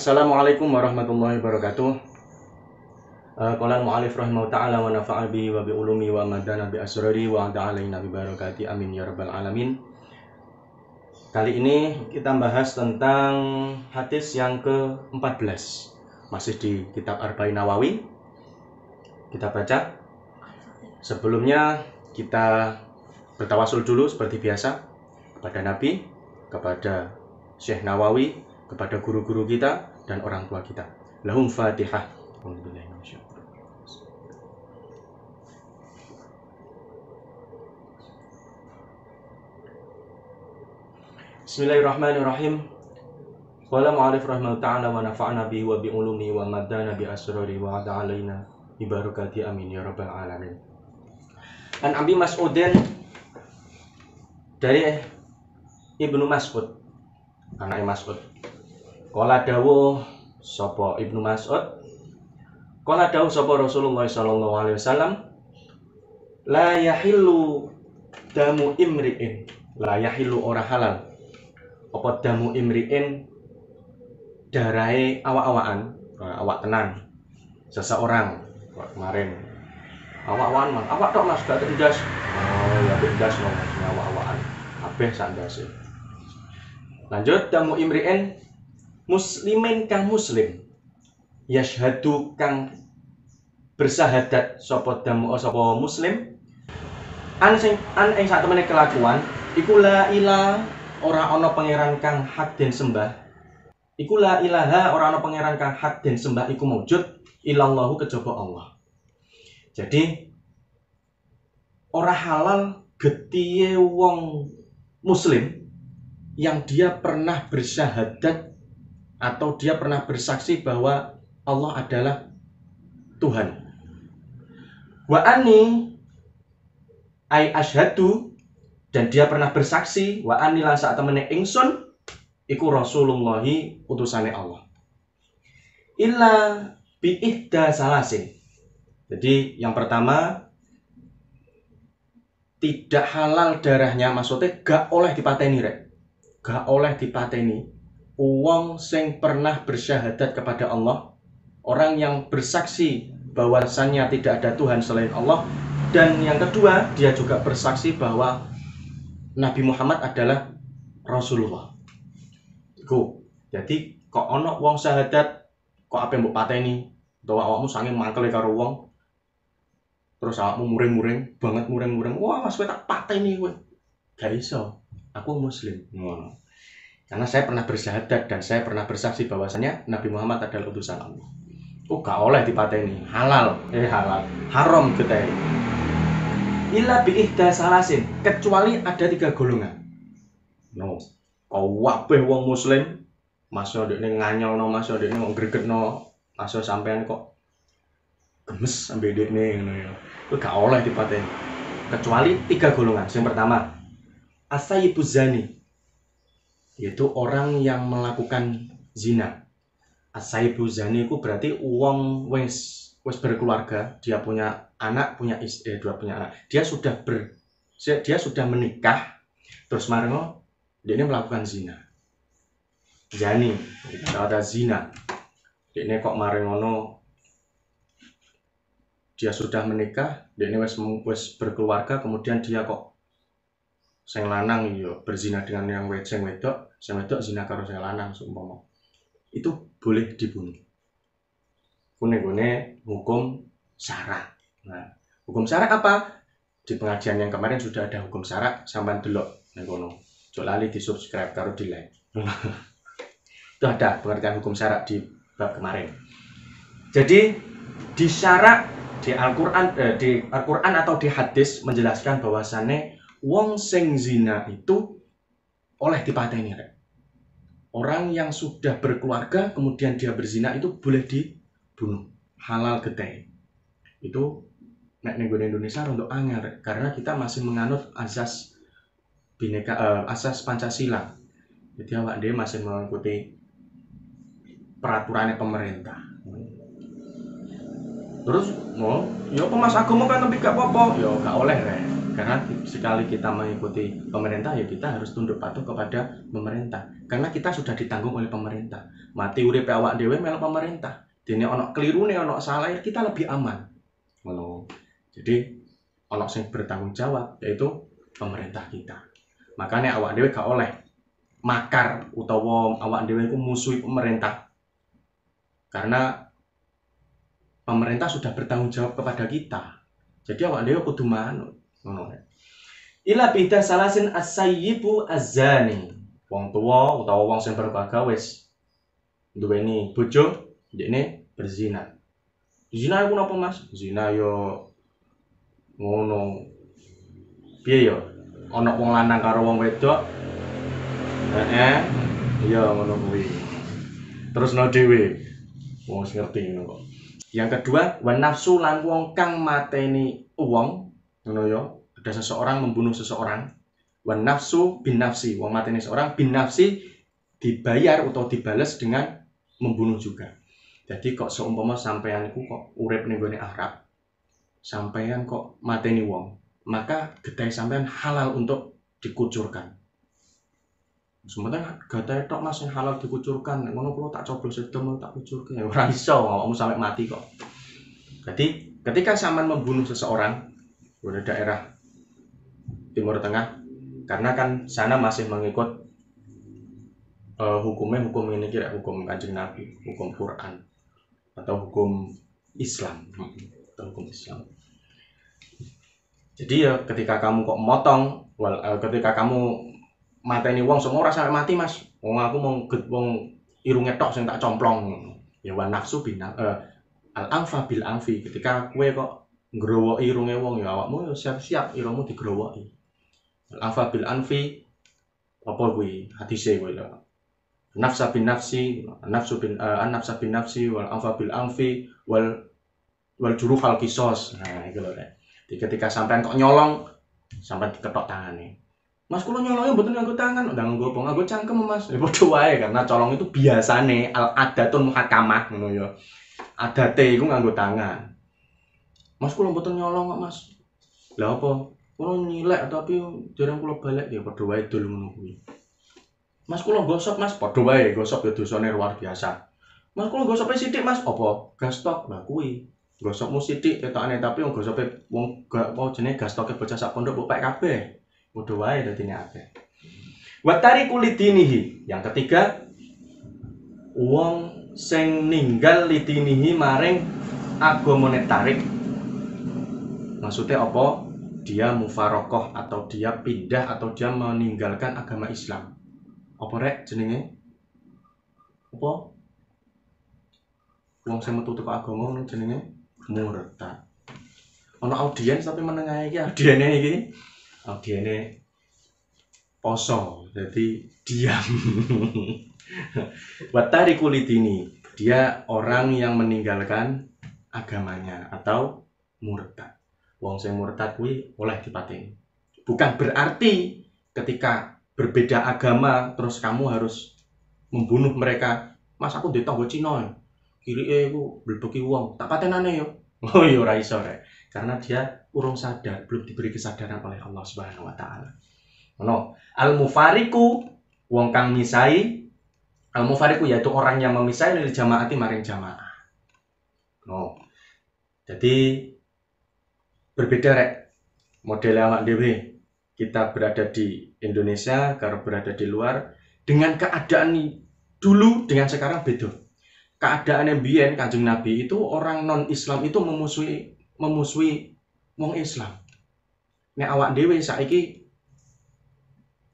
Assalamualaikum warahmatullahi wabarakatuh. Qala al-mu'allif rahimahu ta'ala wa nafa'a bihi wa bi ulumi wa madana bi asrari wa alaina bi barakati amin ya rabbal alamin. Kali ini kita bahas tentang hadis yang ke-14. Masih di kitab Arba'in Nawawi. Kita baca. Sebelumnya kita bertawasul dulu seperti biasa kepada Nabi, kepada Syekh Nawawi, kepada guru-guru kita dan orang tua kita. Lahum Fatihah. Bismillahirrahmanirrahim. Qala mu'allif rahimahu ta'ala wa nafa'na bihi wa bi ulumi wa maddana bi asrari wa alaina bi barakati amin ya rabbal alamin. An Abi Mas'udin, dari Ibnu Mas'ud, anake Mas'ud. Qala dawuh sapa Ibnu Mas'ud? Qala dawuh sapa Rasulullah sallallahu alaihi wasallam, la yahillu damu imri'in, la yahillu ora halal apa damu imri'in, darahe awak-awakan, awak tenan seseorang. Kemarin awak-awakan, Mas, awak tok Mas, gak endas. Oh ya endas no Mas, awak-awakan kabeh sak ndase. Lanjut, damu imri'in muslimin kang muslim, yashhadu kang bersahadat sapa damu sapa muslim an sing an ing sak temene kelakuan iku la ilaha ora ana pangeran kang hak den sembah, iku la ilaha ora ana pangeran kang hak den sembah iku maujud illallahu kejaba Allah. Jadi ora halal getihe wong muslim yang dia pernah bersyahadat atau dia pernah bersaksi bahwa Allah adalah Tuhan. Wa anni ai asyhadu, dan dia pernah bersaksi wa anni lan sak temene ingsun iku Rasulullahi utusane Allah. Illa bi ihda salasin. Jadi yang pertama, tidak halal darahnya, maksudnya gak oleh dipateni rek. Gak oleh dipateni wong sing pernah bersyahadat kepada Allah, orang yang bersaksi bahwasannya tidak ada Tuhan selain Allah, dan yang kedua dia juga bersaksi bahwa Nabi Muhammad adalah Rasulullah. Iku. Jadi kok ono wong syahadat kok ape mbok pateni, utawa awakmu saking mangkele karo wong terus awakmu muring-muring banget, muring-muring, wah Mas kowe tak pateni kowe. Gak iso. Aku muslim. Ngono. Karena saya pernah bersyahadat dan saya pernah bersaksi bahwasannya Nabi Muhammad adalah utusan Allah. Oh, gak oleh dipateni. Halal, halal. Haram getahe. Illa bi ihda salasin, kecuali ada tiga golongan. No. Kabeh wong muslim, masuk ndekne nganyelno, masuk ndekne kok gregetno, masuk sampean kok gemes sampe ndekne ngono ya. Kuwi gak oleh dipateni. Kecuali tiga golongan. Yang pertama, as-sayyibu zani, yaitu orang yang melakukan zina. As-sayyibu zani itu berarti wong wis berkeluarga, dia punya anak, punya istri, dua punya anak. Dia sudah menikah, terus marengo dia ini melakukan zina. Zani, kata zina. Dia ini kok marengono dia sudah menikah, dia ini wis berkeluarga, kemudian dia kok sing lanang yo berzina dengan yang sing wedok, sing wedok zina karo sing lanang seumpama. Itu boleh dibunuh. Kune-kune hukum syara. Nah, hukum syara apa? Di pengajian yang kemarin sudah ada hukum syara, sampean delok ning kono. Ojo lali di-subscribe karo di-like. Itu ada pengertian hukum syara di bab kemarin. Jadi di syara di Al-Qur'an atau di hadis menjelaskan bahwasannya wong sing zina itu oleh dipateni rek. Orang yang sudah berkeluarga kemudian dia berzina itu boleh dibunuh, halal getih. Itu nek ning Indonesia untuk angel rek, karena kita masih menganut asas bineka, asas Pancasila. Jadi awak dhewe masih mengikuti peraturannya pemerintah. Terus mau, ya apa Mas agama kan tapi gak apa-apa, ya gak oleh rek. Karena sekali kita mengikuti pemerintah, ya kita harus tunduk patuh kepada pemerintah. Karena kita sudah ditanggung oleh pemerintah. Mati uripe awak dhewe melok pemerintah. Dene ana kelirune, ana salah, kita lebih aman. Ngono. Jadi ana sing bertanggung jawab yaitu pemerintah kita. Makanya awak dhewe gak oleh makar utawa awak dhewe iku musuhi pemerintah. Karena pemerintah sudah bertanggung jawab kepada kita. Jadi awak dhewe kudu manut. Ngono. Ila bida salasin as-sayyibu az-zani. Wong tua utawa wong sing berbahagia wis duweni bojo, ndekne berzina. Zina iku napa, Mas? Zina yo ngono. Piye yo? Ana wong lanang karo wong wedok. Heeh. Iya ngono kuwi. Terusno dhewe. Wong wis ngerti ngono kok. Yang kedua, wa nafsu lan wong kang mateni wong, ngono yo. Ada seseorang membunuh seseorang. Wa nafsu bin nafsi, wong mateni seorang bin nafsi dibayar atau dibales dengan membunuh juga. Jadi kok seumpama sampean iku kok urip ning gone Arab, sampean kok mateni wong, maka getih sampean halal untuk dikucurkan. Sementara getih tok Mas sing halal dikucurkan, nek ngono kula tak coblos sedem tak kucurke. Ya ora iso, awakmu sampai mati kok. Jadi ketika sampean membunuh seseorang di daerah Timur Tengah, karena kan sana masih mengikut hukumnya hukum ini kira hukum Kanjeng Nabi, hukum Quran atau hukum Islam, atau hukum Islam. Jadi ya ketika kamu kok motong, ketika kamu mateni wong semua ora sampai mati Mas. Wong aku mung wong irunge tok sing tak complong. Ya wa nafsu bin al anfa bil anfi. Ketika kowe kok ngrowoki irunge wong ya awakmu ya siap-siap irungmu digrowoki. Al anfa bil anfi apa kuwi hadise kuwi lho. Nafsa bin nafsi, nafsu bin an nafsa bin nafsi wal anfa bil anfi wal juruhal kisos. Nah, iku lho rek. Jadi ketika sampean kok nyolong, sampean diketok tangane. Mas kula nyolongnya mboten nganggo tangan, ndak nganggo apa, nganggo cangkem Mas. Ya padha wae karena colong itu biasane al adatun muhakamah ngono ya. Adate iku nganggo tangan. Mas kula mboten nyolong kok Mas. Lah apa? Kula nyilek tapi dereng kula balik ya padha wae dul ngono kuwi. Mas kula gosok Mas, padha wae gosok ya dosane luar biasa. Mas kula gosoke sithik Mas, apa? Gastok. Lah kuwi. Gosokmu sithik ketokane tapi wong gosoke wong gak apa jenenge gastoke bocah sak pondok mbok pek kabeh. Padha wae dadine akeh. Wa tariku lidinihi. Yang ketiga, wong sing ninggal lidinihi maring agamane tarik. Maksudnya apa? Dia mufarokoh atau dia pindah atau dia meninggalkan agama Islam. Apa rek jenenge? Apa? Wong sing metu teko agama ngono jenenge murtad. Ana audiens tapi menengahe iki audiene iki. Audiene poso, jadi diam. Wa tariku lidini, dia orang yang meninggalkan agamanya atau murtad. Wong sing murtad kuwi oleh dipateni. Bukan berarti ketika berbeda agama terus kamu harus membunuh mereka. Mas aku ndek tangga Cina. Kirike iku mblebeki wong, tak patenane yo. Oh iya ora iso rek. Karena dia urung sadar, belum diberi kesadaran oleh Allah Subhanahu wa taala. Ngono. Al mufariku wong kang misai, al mufariku yaitu orang yang memisai dari jamaati maring jamaah. No. Jadi berbeda rek model awak dhewe. Kita berada di Indonesia karo berada di luar dengan keadaan dulu dengan sekarang beda. Keadaan yang biyen Kanjeng Nabi itu orang non Islam itu memusuhi wong Islam. Nek awak dhewe saiki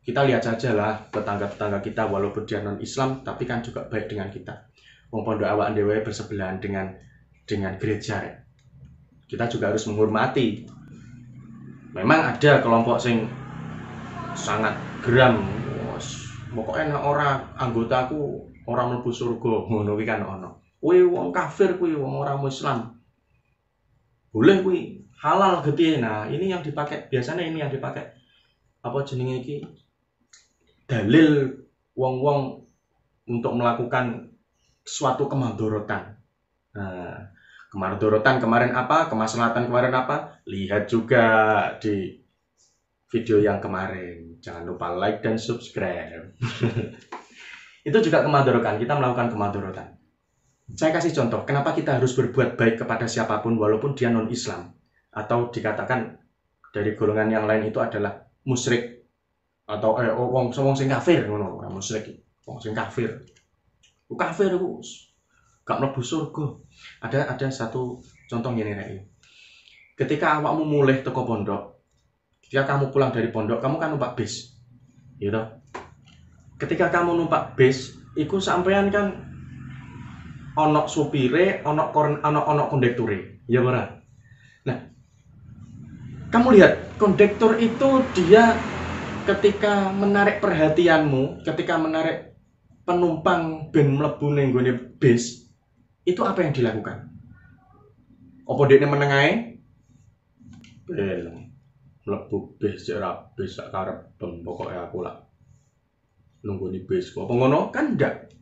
kita lihat saja lah tetangga-tetangga kita walaupun dia non Islam tapi kan juga baik dengan kita. Wong pondok awak dhewe bersebelahan dengan gereja rek. Kita juga harus menghormati. Memang ada kelompok sing sangat geram, pokoknya nek ora anggotaku ora mlebu surga, ngono kuwi kan ono. Kuwi wong kafir kuwi, wong ora Islam. Boleh kuwi, halal gede. Nah, ini yang dipakai biasanya ini yang dipakai apa jenenge iki? Dalil wong-wong untuk melakukan suatu kemandorotan. Nah, kemandorotan kemarin apa? Kemaslahatan kemarin apa? Lihat juga di video yang kemarin. Jangan lupa like dan subscribe. Itu juga kemadorotan, kita melakukan kemadorotan. Saya kasih contoh, kenapa kita harus berbuat baik kepada siapapun walaupun dia non-Islam atau dikatakan dari golongan yang lain itu adalah musyrik atau wong wong sing kafir ngono, ora musyrik, wong sing kafir. Ku kafir iku gak mlebu surga. Ada satu contoh ngene rek. Ketika awakmu mulih teko pondok, ketika kamu pulang dari pondok, kamu kan numpak bis. Gitu. Ketika kamu numpak bis, iku sampean kan ono supire, ono korn, ono ono kondekture, ya ora? Nah, kamu lihat kondektur itu dia ketika menarik perhatianmu, ketika menarik penumpang ben mlebu ning nggone bis, itu apa yang dilakukan? Apa dekne meneng ae? Belum. Mlebu bis cek ra bis sak karepem, pokoke aku lah nunggoni bis. Apa ngono? Kan ndak.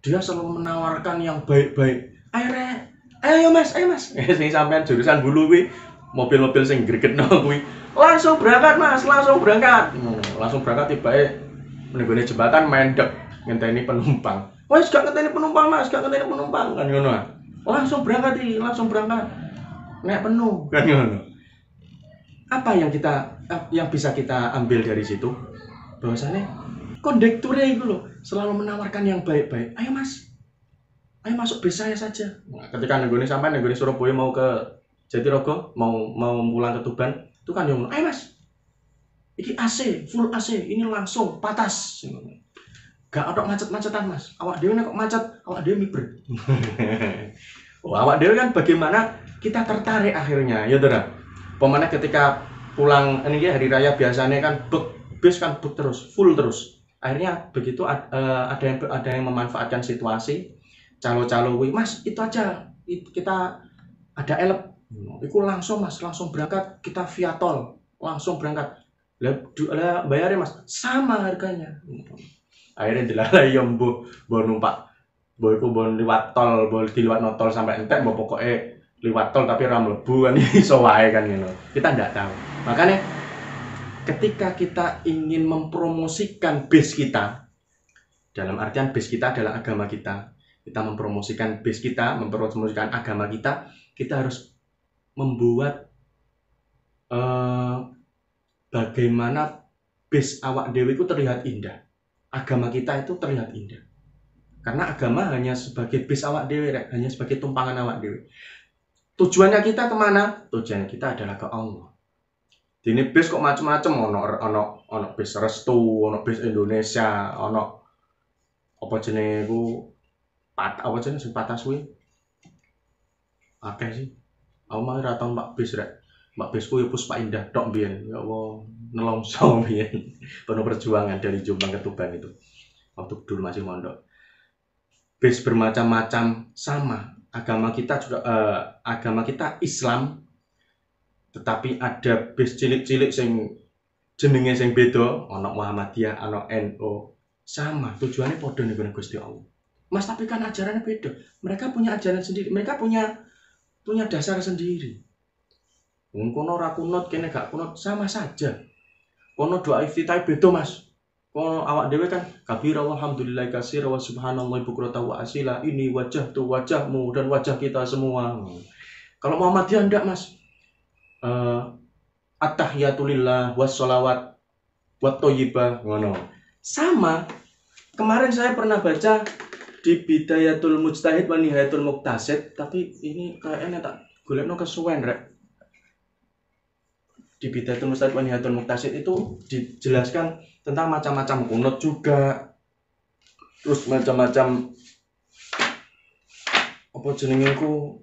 Dia selalu menawarkan yang baik-baik. Ayo rek, ayo mas, ayo mas. Sing sampean jurusan Bulu kuwi, mobil-mobil sing gregetno kuwi, langsung berangkat mas, langsung berangkat. Langsung berangkat tibake ning jembatan mendek ngenteni penumpang. Wes gak ngenteni penumpang mas, gak ngenteni penumpang kan ngono. Langsung berangkat iki, langsung berangkat. Nek penuh kan ngono. Apa yang kita yang bisa kita ambil dari situ? Bahwasannya kondekturnya itu loh selalu menawarkan yang baik-baik. Ayo mas, ayo masuk bis saya saja. Nah, ketika nenggone sampai nenggone Surabaya mau ke Jatirogo, mau mau pulang ke Tuban, itu kan yang ayo mas, iki AC, full AC, ini langsung patas. Gak ada macet-macetan mas. Awak dhewe nek kok macet, awak dhewe miber. Oh, awak dhewe kan bagaimana kita tertarik akhirnya, ya toh. Pemana ketika pulang ini ya, hari raya biasanya kan bek bis kan bek terus, full terus. Akhirnya begitu ada yang memanfaatkan situasi, calo-calo kuwi, "Mas, itu aja kita ada elep." Iku langsung mas, langsung berangkat kita via tol, langsung berangkat. Lah, lah bayarnya mas sama harganya. Akhirnya dilalai yo mbuh mbok numpak mbok iku mbok liwat tol, mbok diliwatno tol sampai entek, mbok pokoke liwat tol tapi ora mlebu kan iso wae kan ngono. Kita ndak tahu. Makanya ketika kita ingin mempromosikan bis kita, dalam artian bis kita adalah agama kita, kita mempromosikan bis kita, mempromosikan agama kita, kita harus membuat bagaimana bis awak dhewe itu terlihat indah. Agama kita itu terlihat indah. Karena agama hanya sebagai bis awak dhewe, rek, hanya sebagai tumpangan awak dhewe. Tujuannya kita kemana? Tujuannya kita adalah ke Allah. Dene bis kok macem-macem, ono ono ono bis Restu, ono bis Indonesia, ono apa jenenge iku pat apa jenenge sing patas kuwi? Akeh sih. Aku mah ora tau numpak bis rek. Numpak bisku ya Puspa Indah tok mbiyen. Ya Allah, nelongso mbiyen. Penuh perjuangan dari Jombang ke Tuban itu. Waktu dulu masih mondok. Bis bermacam-macam sama. Agama kita juga agama kita Islam. Tetapi ada bis cilik-cilik sing jenenge sing beda, ono Muhammadiyah, ono NU. Sama, tujuannya padha ning Gusti Allah. Mas, tapi kan ajarannya beda. Mereka punya ajaran sendiri, mereka punya punya dasar sendiri. Wong kono ora kunut, kene gak kunut, sama saja. Kono doa iftitah beda, Mas. Kono awak dhewe kan kabira walhamdulillah katsira wa subhanallah bukrata wa asila, ini wajah tuh wajahmu dan wajah kita semua. Kalau Muhammadiyah ndak, Mas. Attahiyatulillah wassolawat wat thayyibah ngono. Sama. Kemarin saya pernah baca di Bidayatul Mujtahid wa Nihayatul Muqtasid, tapi ini kayaknya tak golekno kesuwen rek. Di Bidayatul Mujtahid wa Nihayatul Muqtasid itu dijelaskan tentang macam-macam kunut juga. Terus macam-macam apa jenenge iku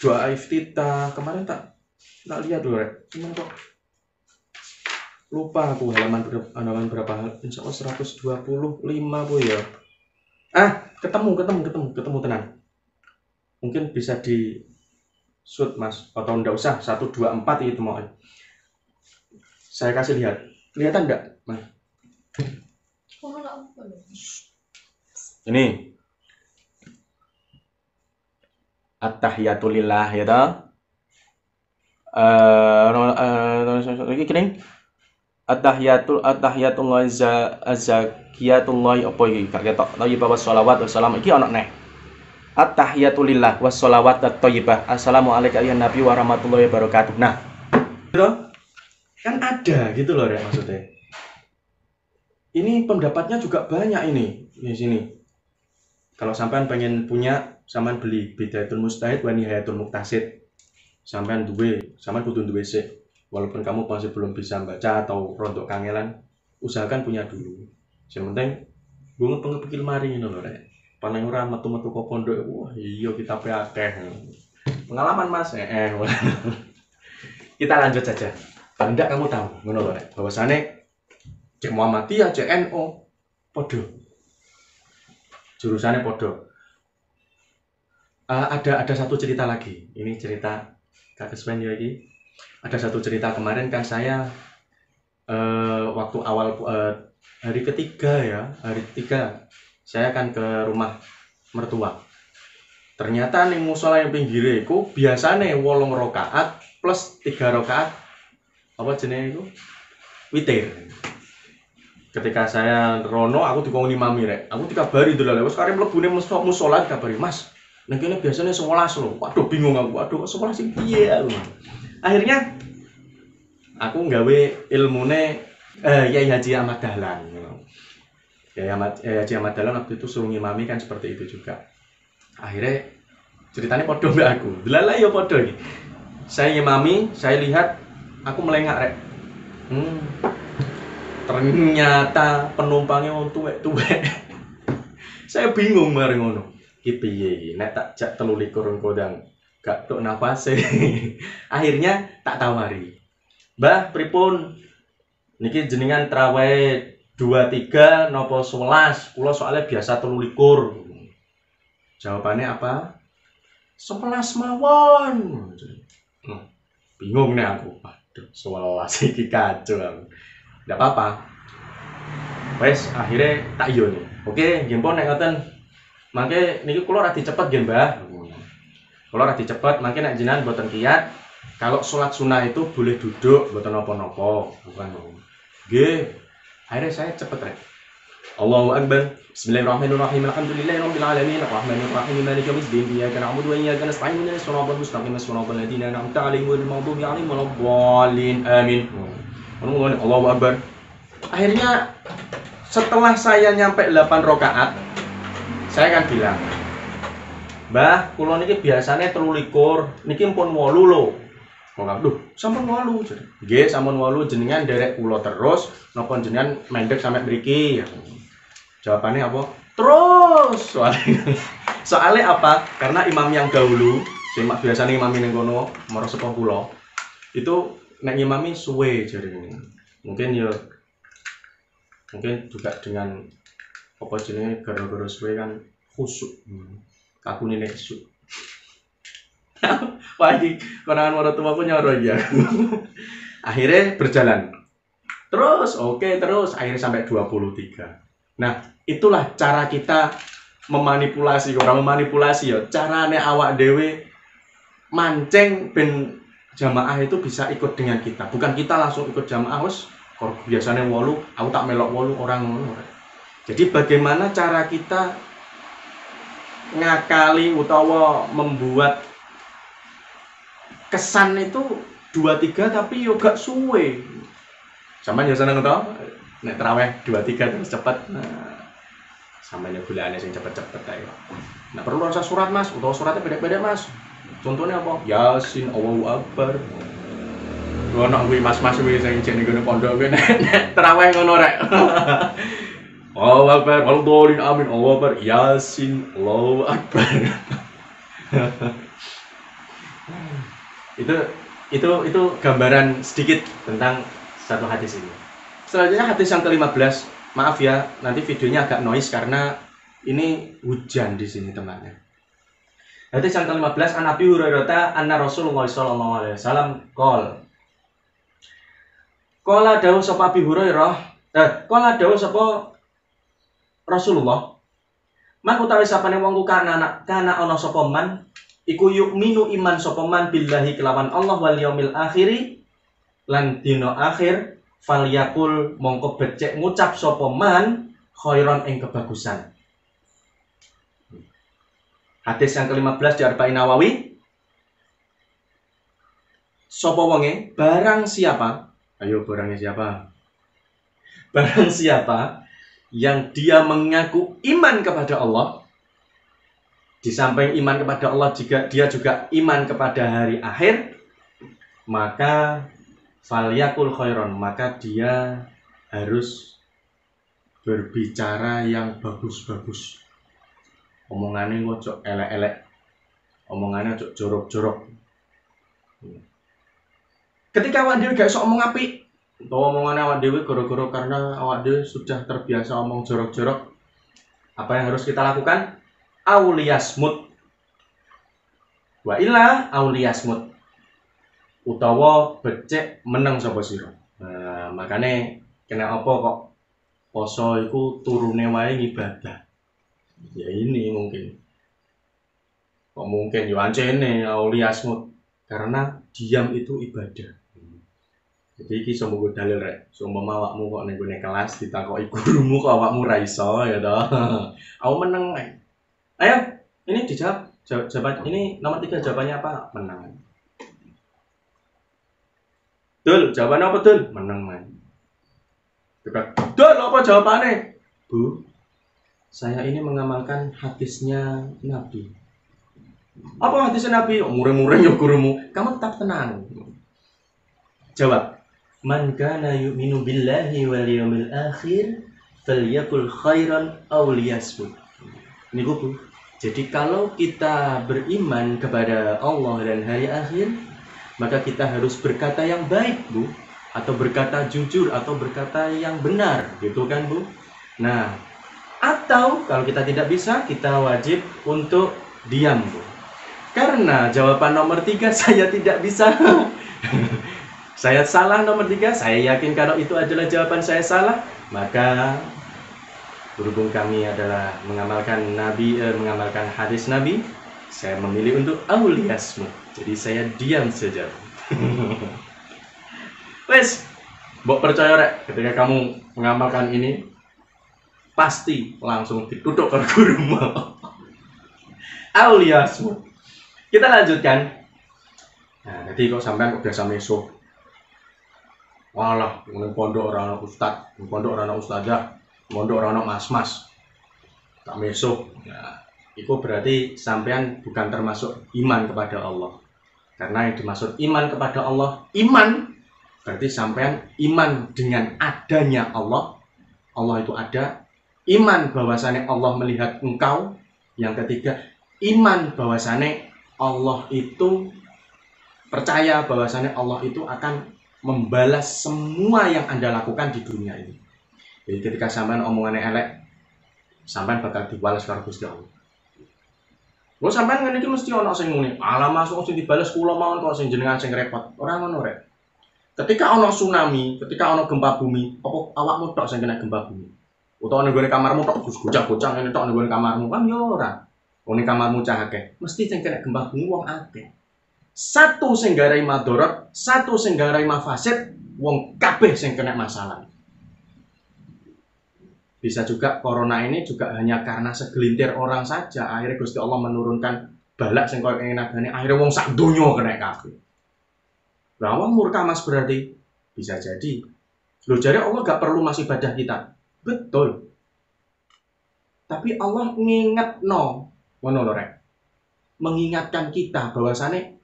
doa iftitah. Kemarin tak tak lihat dulu rek. Cuman kok lupa aku halaman berapa, insya Allah 125 bu ya. Ah, ketemu ketemu ketemu ketemu, tenang. Mungkin bisa di shoot mas, atau enggak usah, 124 itu mau saya kasih lihat. Kelihatan enggak mas? Oh, apa lho? Ini Attahiyatulillah ya toh. Eh, ini kering. At-tahiyatul at-tahiyatullah az-zakiyatullah apa iki gak ketok. Thayyibah wassalawat wassalam iki ana neh. At-tahiyatulillah wassalawat at-thayyibah. Assalamualaikum ya Nabi warahmatullahi wabarakatuh. Nah, gitu kan ada gitu loh rek maksudnya. Ini pendapatnya juga banyak ini di sini. Kalau sampean pengen punya, sampean beli Bidayatul Mujtahid wa Nihayatul Muqtasid. Sampean duwe, sampean kudu duwe sik. Walaupun kamu masih belum bisa baca atau rontok kangelan, usahakan punya dulu. Yang penting gue ngepeng-ngepeki lemari ngono lho rek. Paling ora metu-metu kok pondok, wah iya kitabe akeh. Pengalaman Mas. Kita lanjut saja. Paling enggak kamu tahu ngono lho rek. Bahwasane cek Muhammadiyah, cek NU podo. Jurusannya podo. Ada satu cerita lagi. Ini cerita Kak Keswen ya iki. Ada satu cerita kemarin kan saya waktu awal hari ketiga ya, hari ketiga saya kan ke rumah mertua. Ternyata ning musola yang pinggire iku biasane 8 rakaat plus 3 rakaat apa jenenge iku? Witir. Ketika saya rono aku dikon imami rek. Aku dikabari delok wis kare mlebune musola dikabari, "Mas, ning kene biasane 11 lho." Waduh bingung aku. Waduh 11 sing piye aku. Akhirnya aku nggawe ilmune Yai Haji Ahmad Dahlan. Yai Haji Ahmad Dahlan waktu itu suruh ngimami kan seperti itu juga. Akhirnya ceritanya podo mbak aku. Delala ya podo iki. Saya ngimami, saya lihat aku melengak rek. Ternyata penumpangnya wong tuwek-tuwek. Saya bingung mari ngono. Ki piye iki? Nek tak jak 23 engko ndang gak tok nafase. Akhirnya tak tawari. Mbah, pripun? Niki jenengan traweh 23 nopo 11? Kula soalnya biasa 23. Jawabannya apa? 11 mawon. Bingung nih aku. Waduh, 11 iki kacau aku. Nggak apa-apa. Wes, akhirnya tak iyo nih. Oke, nggih pun nek ngoten. Mangke niki kula radi cepet nggih, Mbah. Kula radi cepet, mangke nek jenengan mboten kiat, kalau sholat sunnah itu boleh duduk, mboten napa-napa, bukan. Nggih. Akhirnya saya cepet rek. Allahu Akbar. Bismillahirrahmanirrahim. Alhamdulillahirabbil alamin. Arrahmanirrahim. Maliki yaumiddin. Iyyaka na'budu wa iyyaka nasta'in. Ihdinas siratal mustaqim. Siratal ladzina an'amta 'alaihim ghairil maghdubi 'alaihim waladdallin. Amin. Allahu Akbar. Akhirnya setelah saya nyampe 8 rakaat, saya kan bilang, "Mbah, kula niki biasane 23, niki pun 8 lho." Kok duh, sampun 8. Nggih, sampun 8 jenengan nderek kula terus, napa jenengan mendek sampai mriki? Jawabannya apa? Terus. Soalnya apa? Karena imam yang dahulu, sing biasane imami ning kono, mara sepuh kula, itu nek ngimami suwe jarene. Mungkin ya mungkin juga dengan apa jenenge gara-gara suwe kan khusuk. Kakune nek esuk. Wah, iki konangan maratuwaku nyoro iki aku. Akhirnya berjalan. Terus, oke, terus akhirnya sampai 23. Nah, itulah cara kita memanipulasi, orang memanipulasi ya. Carane awak dhewe mancing ben jamaah itu bisa ikut dengan kita. Bukan kita langsung ikut jamaah wis biasanya 8, aku tak melok 8 orang ngono. Jadi bagaimana cara kita ngakali utawa membuat kesan itu 23 tapi yo gak suwe. Sampeyan yo seneng to? Nek traweh 23 terus cepet. Nah, sampeyan yo golekane sing cepet-cepet ae kok. Nah, perlu rasa surat Mas, utawa suratnya beda-beda Mas. Contohnya apa? Yasin, Allahu Akbar. Ono kuwi mas-mas kuwi sing jek ning pondok kuwi nek traweh ngono rek. Allahu Akbar, Allahu amin, Allahu Akbar, Yasin, Allahu Akbar. Itu gambaran sedikit tentang satu hadis ini. Selanjutnya hadis yang ke-15. Maaf ya, nanti videonya agak noise karena ini hujan di sini tempatnya. Hadis yang ke-15, an Abi Hurairah anna Rasulullah sallallahu alaihi wasallam qol. Qala dawuh sapa Abi Hurairah, qala dawuh sapa Rasulullah, man utawi sapane wong ku kana kana ana sapa man iku yukminu iman sapa man billahi kelawan Allah wal yaumil akhiri lan dina akhir Falyakul mongko becik ngucap sapa man khairon ing kebagusan. Hadis yang ke-15 di Arba'in Nawawi. Sapa wonge? Barang siapa? Ayo barangnya siapa? Barang siapa yang dia mengaku iman kepada Allah, di samping iman kepada Allah juga dia juga iman kepada hari akhir, maka falyakul khairon, maka dia harus berbicara yang bagus-bagus. Omongannya ojo elek-elek, omongannya ojo jorok-jorok. Ketika awak dhewe gak iso omong apik, utawa omongane awak dhewe gara-gara karena awak dhewe sudah terbiasa omong jorok-jorok, apa yang harus kita lakukan? Auliyasmut. Wa illa auliyasmut. Utawa becik meneng sapa sira. Nah, makane kena apa kok poso iku turune wae ngibadah. Ya ini mungkin. Kok mungkin yo ancene auliyasmut, karena diam itu ibadah. Jadi iki iso monggo dalil rek. Sumpama awakmu kok ning gone kelas ditakoki gurumu kok awakmu ra iso ya toh. Aku meneng rek. Ayo, ini dijawab. Jawaban ini nomor 3 jawabannya apa? Menang. Dul, jawabannya apa Dul? Menang man. Dul, apa jawabannya? Bu, saya ini mengamalkan hadisnya Nabi. Apa hadisnya Nabi? Oh, mureng-mureng ya gurumu. Kamu tetap tenang. Jawab. Man kana yu'minu billahi wal yawmil akhir falyakul khairan aw liyasmut. Ini Bu. Jadi kalau kita beriman kepada Allah dan hari akhir, maka kita harus berkata yang baik, Bu, atau berkata jujur atau berkata yang benar, gitu kan, Bu? Nah, atau kalau kita tidak bisa, kita wajib untuk diam, Bu. Karena jawaban nomor 3 saya tidak bisa. Saya salah nomor 3, saya yakin kalau itu adalah jawaban saya salah, maka berhubung kami adalah mengamalkan Nabi, mengamalkan hadis Nabi, saya memilih untuk auliyasmut. Jadi saya diam saja. Wes, mbok percaya rek, ketika kamu mengamalkan ini pasti langsung ditutup ke gurumu. Auliyasmut. Kita lanjutkan. Nah, jadi kok sampean kok biasa meso. Walah, ning pondok ora ana ustad, ning pondok ora ana ustazah, pondok ora ana mas-mas. Tak meso. Nah, itu berarti sampean bukan termasuk iman kepada Allah. Karena yang dimaksud iman kepada Allah, iman berarti sampean iman dengan adanya Allah. Allah itu ada. Iman bahwasannya Allah melihat engkau. Yang ketiga, iman bahwasannya Allah itu percaya bahwasannya Allah itu akan membalas semua yang Anda lakukan di dunia ini. Jadi ketika sampean omongannya elek, sampean bakal dibalas karo Gusti Allah. Lho sampean ngene iki mesti ana sing ngene. Alah masuk sing dibales kula mawon kok sing jenengan sing repot. Ora ngono rek. Ketika ana tsunami, ketika ana gempa bumi, apa awakmu tok sing kena gempa bumi? Utawa ning gone kamarmu tok gocah-gocah ngene tok ning gone kamarmu kan ya ora. Wong ning kamarmu cah akeh, mesti sing kena gempa bumi wong akeh. Satu sing garai madorot, satu sing garai mafasid, wong kabeh sing kena masalah. Bisa juga corona ini juga hanya karena segelintir orang saja, akhirnya Gusti Allah menurunkan balak sing koyo ngene nagane, akhirnya wong sak donya kena kabeh. Lah wong murka Mas berarti bisa jadi. Loh jare Allah gak perlu masih ibadah kita. Betul. Tapi Allah ngingetno, ngono lho rek. Mengingatkan kita bahwasane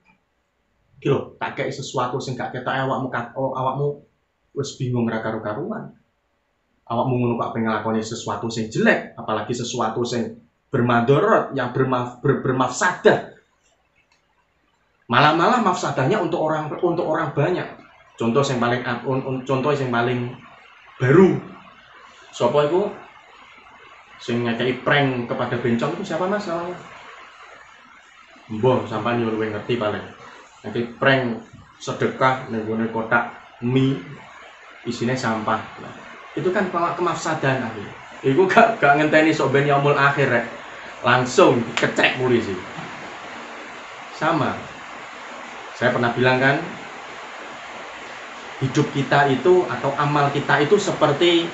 iki lho, tak kei sesuatu sing gak ketok awakmu, awakmu wis bingung ra karu-karuan. Awakmu ngono kok pengen nglakoni sesuatu sing jelek, apalagi sesuatu sing bermadorot, yang bermafsadah. Malah-malah mafsadahnya untuk orang banyak. Contoh sing paling contoh sing paling baru. Sopo iku sing ngekeki prank kepada bencong itu siapa Mas namanya? Mbah, sampean yo luwih ngerti paling. Ngekeki prank sedekah ning gone kotak mie isine sampah. Nah, itu kan kemafsadahan akhir. Iku gak ngenteni sok ben yaumul akhir rek. Langsung dikecek polisi. Sama. Saya pernah bilang kan, Hidup kita itu atau amal kita itu seperti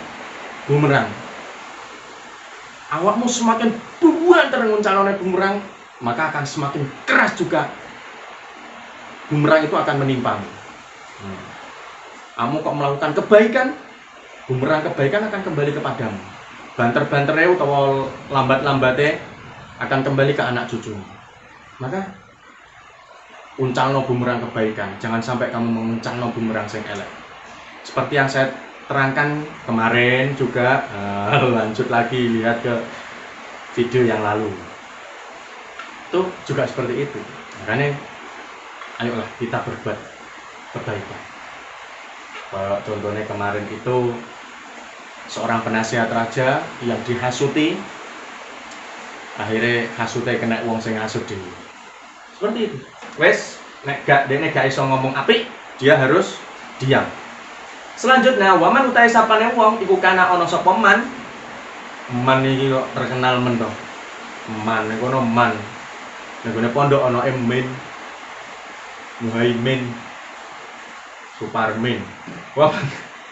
bumerang. Awakmu semakin buanter nguncalone bumerang, maka akan semakin keras juga bumerang itu akan menimpamu. Kamu kok melakukan kebaikan, bumerang kebaikan akan kembali kepadamu. Banter-bantere utawa lambat-lambate akan kembali ke anak cucumu. Maka uncalno bumerang kebaikan, jangan sampai kamu menguncalno bumerang sing elek. Seperti yang saya terangkan kemarin juga, lanjut lagi lihat ke video yang lalu. Itu juga seperti itu. Makanya ayolah kita berbuat kebaikan. Kalau contohnya kemarin itu seorang penasihat raja yang dihasuti, akhirnya hasute kena wong sing hasut dhewe. Seperti itu. Wes, nek gak dene gak iso ngomong apik, dia harus diam. Selanjutnya, waman utahe sapane wong iku kana ana sapa man. Man iki kok terkenal men to. Man niku ono man. Nek gone pondok ana Emin, Muhaimin, Suparmin. Wah,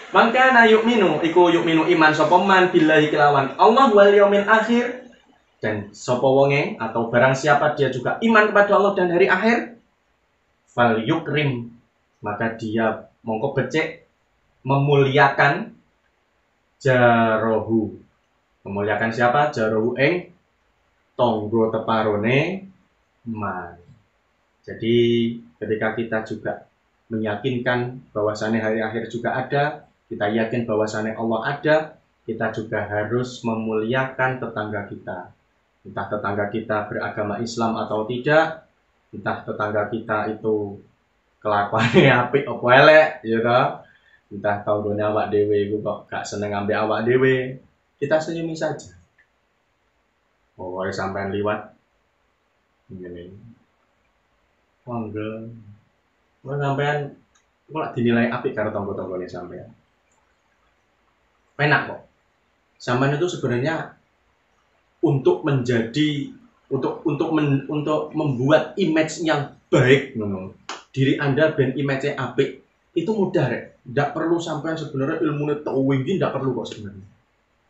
mangkana yu'minu iku yu'minu iman sapa man billahi kelawan Allah wal yaumil akhir, dan sapa wonge atau barang siapa dia juga iman kepada Allah dan hari akhir, fal yukrim, maka dia mongko becik memuliakan jarohu. Memuliakan siapa? Jarohu ing tonggo teparone man. Jadi ketika kita juga meyakinkan bahwasannya hari akhir juga ada, kita yakin bahwasannya Allah ada, kita juga harus memuliakan tetangga kita. Entah tetangga kita beragama Islam atau tidak, entah tetangga kita itu kelakuannya apik apa elek, ya toh. Entah tanggane awak dhewe iku kok gak seneng ambek awak dhewe, kita senyumi saja. Pokoke sampean liwat ngene. Monggo. Wong sampean kok lak dinilai apik karo tangga-tanggane sampean. Penak kok. Sampean itu sebenarnya untuk menjadi untuk membuat image yang baik ngono. Diri Anda ben image-nya apik itu mudah rek. Ndak perlu sampean sebenarnya ilmune tinggi, ndak perlu kok sebenarnya.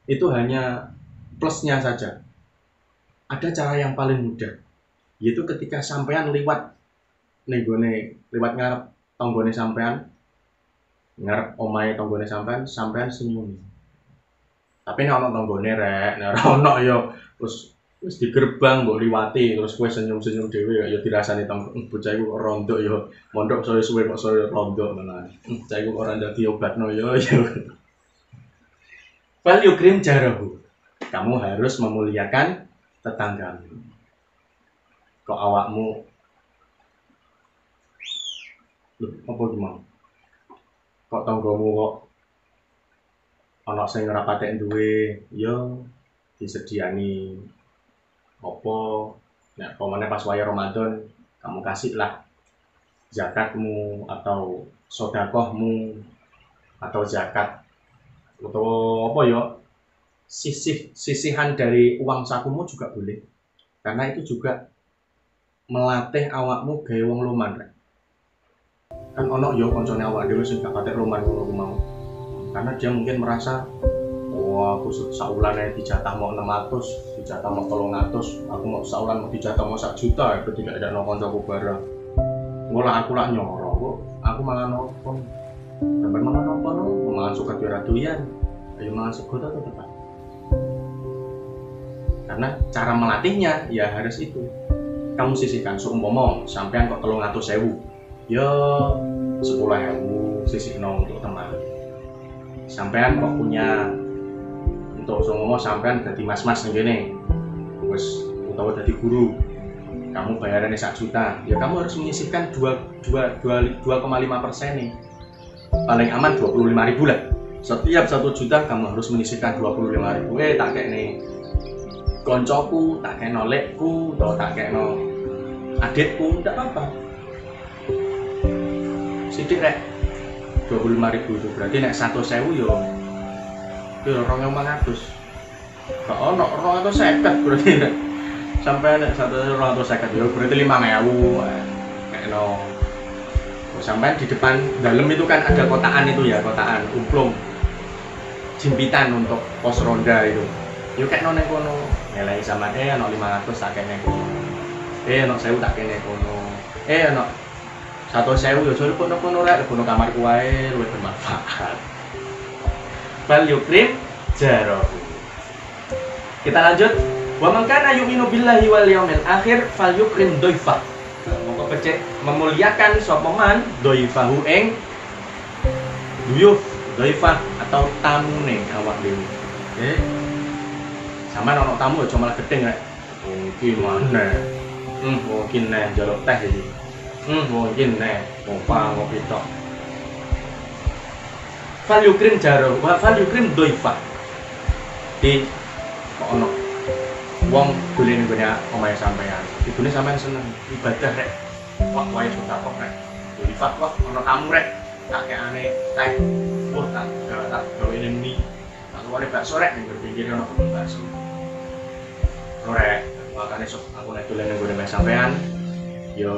Itu hanya plusnya saja. Ada cara yang paling mudah, yaitu ketika sampean liwat ning gone, liwat ngarep tanggane sampean, ngarep omahe tanggane sampean, sampean senyum. Tapi nek ana tanggane rek, nek ora ana ya terus wis di gerbang mbok liwati terus kowe senyum-senyum dhewe ya dirasani tangga, bocah iku kok rondok ya, mondok saya suwe kok saya rondok malah. Bocah iku ora ndak diobatno ya. Fal yukrim jarahu. Kamu harus memuliakan tetanggamu. Kok awakmu lho, apa iki mau? Kok tanggamu kok ana sing ora patek duwe, ya disediani apa nek pamane pas wayah Ramadan kamu kasihlah zakatmu atau sedekahmu atau zakat atau apa ya, sisihan dari uang sakumu juga boleh, karena itu juga melatih awakmu gawe wong loman rek. Kan ono ya koncone awak dhewe sing gak patek loman ngono ku mau, karena dia mungkin merasa wah aku saulan ae dijatah mau 600, dijatah mau 300, aku mau saulan mau dijatah mau 1 juta, itu tidak ada kancaku barang. Ngolah aku lak nyoro kok, aku mangan opo? Sampeyan mangan opo no? Mangan suket yo ora doyan. Ayo mangan sego ta tetep. Karena cara melatihnya ya harus itu. Kamu sisihkan seumpama sampean kok 300.000, ya 10.000 sisihno untuk teman. Sampean kok punya untuk seumpama sampean dadi mas-mas ning kene, wis utawa dadi guru, kamu bayarannya 1 juta, ya kamu harus menyisihkan 2,5% nih. Paling aman 25.000 lah. Setiap 1 juta kamu harus menyisihkan 25.000. Tak kekne koncoku, tak kekno lekku, atau tak kekno adikku, ndak apa-apa. Sithik rek 25.000 itu berarti nek 100.000 yo yo 2.500. Gak ono 250 berarti nek sampai nek 150 yo berarti 5.000 kekno Sampai di depan dalam itu kan ada kotaan itu ya, kotaan umplung jimpitan untuk pos ronda itu. Yo kekno neng kono, ngelai sama ono 500 tak kene kono. Ono 1000 tak kene kono. Ono 100.000 yo aja kono kono rek, kono kamarku wae luwih bermanfaat. Fal yukrim jarahu. Kita lanjut. Wa man kana yu'minu billahi wal yaumil akhir fal yukrim dhaifah. Mongko becik memuliakan sapa man dhaifahu ing duyuf, dhaifah atau tamune awak dhewe. Oke. Sampeyan ana tamu aja malah gedeng rek. Wong iki maneh. Wong iki neh njaluk teh iki. Wong iki neh ngopa ngopi tok. Fal yukrim jaro, wa fal yukrim dhaifah. Di kok ono wong dolen nggone omahe sampean. Ibune sampean seneng ibadah rek. Wah, wae sedekah rek. Dhaifah wah ono tamu rek. Tak kekane teh. Wah, tak gawene mie. Tak keluare bakso rek ning pinggir ono kebun bakso. Rek, makane sok aku nek dolen nang nggone sampean ya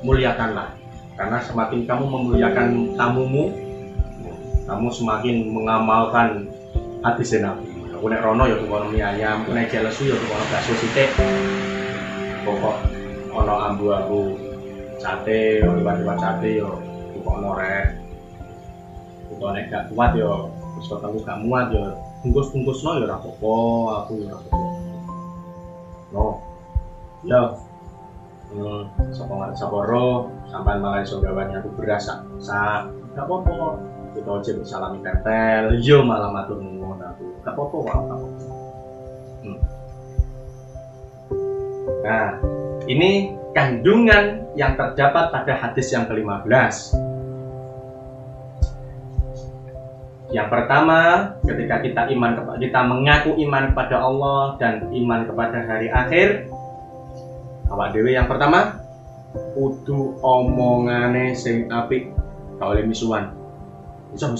muliakanlah. Karena semakin kamu memuliakan tamumu, kamu semakin mengamalkan hadis Nabi. Aku nek rono ya tukono mie ayam, aku nek lesu ya tukono bakso sithik. Pokok ono ambu-ambu sate, liwat-liwat sate ya tukono rek. Utawa nek gak kuat ya wis wetengku gak muat ya bungkus-bungkusno ya ora apa-apa, aku ya ora apa-apa. No. Ya. Sapa ngerti sapa ro, sampean malah iso gawani aku beras sak sak. Gak apa-apa. Kita aja salami tempel, yo malah matur nuwun aku. Gak apa-apa kok, gak apa-apa. Nah, ini kandungan yang terdapat pada hadis yang ke-15. Yang pertama, ketika kita iman, kita mengaku iman kepada Allah dan iman kepada hari akhir. Awak dhewe yang pertama kudu omongane sing apik, gak oleh misuan. Miso.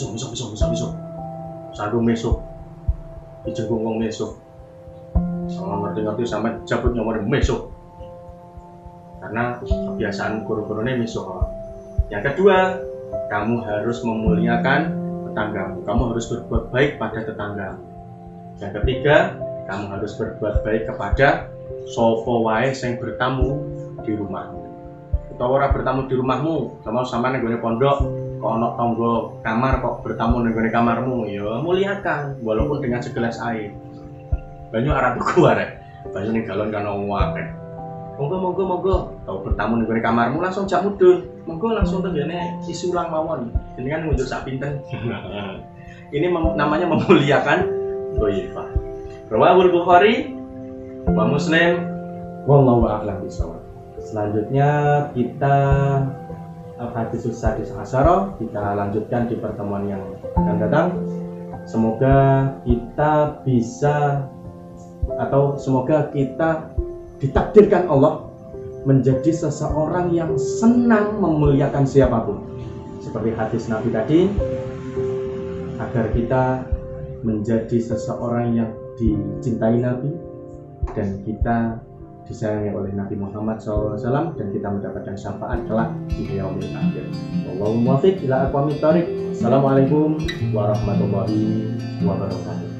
Sandung meso. Dijenggung wong meso. Sama ngerti-ngerti sampe jabut nyomor meso. Karena kebiasaan guru-gurune meso. Yang kedua, kamu harus memuliakan tetanggamu. Kamu harus berbuat baik pada tetanggamu. Yang ketiga, kamu harus berbuat baik kepada sapa wae sing bertamu di rumahmu. Utawa ora bertamu di rumahmu, sama sampean nang nggone pondok kok ana tangga kamar kok bertamu nang nggone kamarmu, ya muliakan walaupun dengan segelas air. Banyu arah tuku arek. Banyu ning galon kan akeh. Monggo. Tau bertamu ning nggone kamarmu langsung jak mudhun. Monggo langsung tenggene isi ulang mawon. Jenengan ngunjuk sak pinten. Ini namanya memuliakan dhaifah. Rawahul Bukhari wa Muslim, wallahu a'lam bishawab. Selanjutnya kita hadis sadis asyara kita lanjutkan di pertemuan yang akan datang. Semoga kita bisa atau semoga kita ditakdirkan Allah menjadi seseorang yang senang memuliakan siapapun. Seperti hadis Nabi tadi, agar kita menjadi seseorang yang dicintai Nabi dan kita disayangi oleh Nabi Muhammad SAW dan kita mendapatkan syafaat kelak di yaumil akhir. Wallahu muwaffiq ila aqwamit thoriq. Assalamualaikum warahmatullahi wabarakatuh.